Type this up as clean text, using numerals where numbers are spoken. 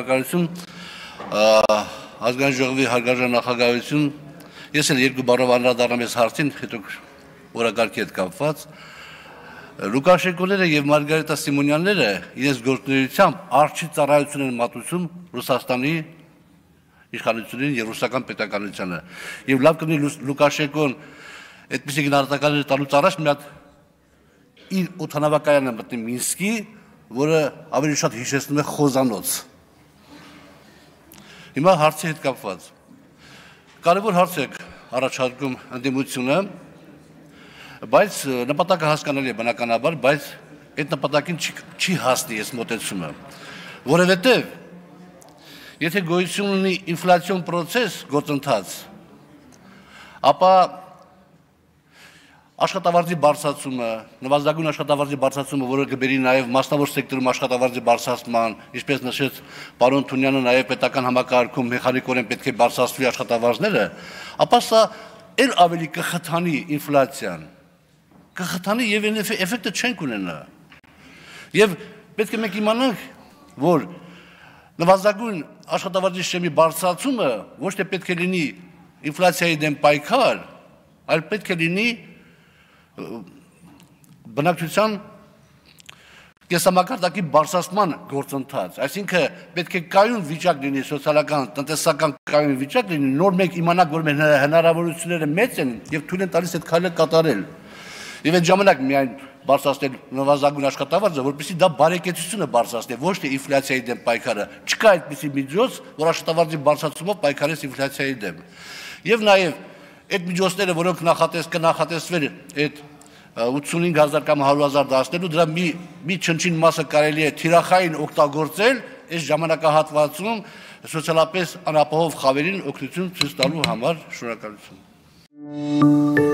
շնորհակալություն, ազգային ժողովի հարգարժան նախագահություն, ես էլ երկու բառով անդրադառնամ այս հարցին, հետո օրակարգի հետ կապված, Լուկաշենկոները եւ Մարգարիտա Սիմոնյանները իրենց գործունեությամբ արժի ծառայություն են մատուցում Ռուսաստանի իշխանությունին եւ ռուսական պետականությանը։ Եվ լավ կլինի Լուկաշենկոն այդպիսի գնահատականներ տալուց առաջ մի հատ իր օդանավակայանը մտնի Մինսկի, որը ավելի շատ հիշեցնում է խոզանոց։ Հիմա հարցի հետ կապված։ Կարևոր հարց է առաջարկում ընդդիմությունը, բայց նպատակը հասկանալի է բնականաբար, բայց այդ նպատակին չի հասնի այս մոտեցումը, որովհետև եթե գոյություն ունի ինֆլյացիոն պրոցես գործընթաց, ապա աշխատավարձի բարձրացումը, նվազագույն աշխատավարձի բարձրացումը, որը կբերի նաև մասնավոր սեկտորում աշխատավարձի բարձրացման, ինչպես նշեց պարոն Թունյանը, նաև պետական համակարգում մեխանիկորեն պետք է բարձրացվի աշխատավարձները, ապա սա էլ ավելի կխթանի ինֆլյացիան, կխթանի եւ էֆեկտը չենք ունենա։ Եվ պետք է մենք իմանանք, որ նվազագույն աշխատավարձի շեմի բարձրացումը ոչ թե պետք է լինի ինֆլյացիայի դեմ պայքար, այլ պետք է լինի բնակչության կենսամակարդակի բարձրացման գործընթաց, այսինքն պետք է կայուն վիճակ լինի, սոցիալական, տնտեսական կայուն վիճակ լինի, նոր մենք իմանանք, որ մեր հնարավորությունները մեծ են եւ թույլ են տալիս այդ քայլը կատարել։ Եվ այդ ժամանակ միայն բարձրացնել նվազագույն աշխատավարձը, որպեսզի դա բարեկեցությունը բարձրացնի, ոչ թե ինֆլյացիայի դեմ պայքարը։ Չկա այդպիսի միջոց, որ աշխատավարձի բարձրացումով պայքարես ինֆլյացիայի դեմ։ Եվ նաև այդ միջոցները, որոնք կնախատեսվեն այդ 85,000 կամ 100,000 դասնելու, դրա մի չնչին մասը կարելի է թիրախային օգտագործել այս ժամանակահատվածում սոցիալապես անապահով խավերին օգնություն ցույց տալու համար։ Շնորհակալություն։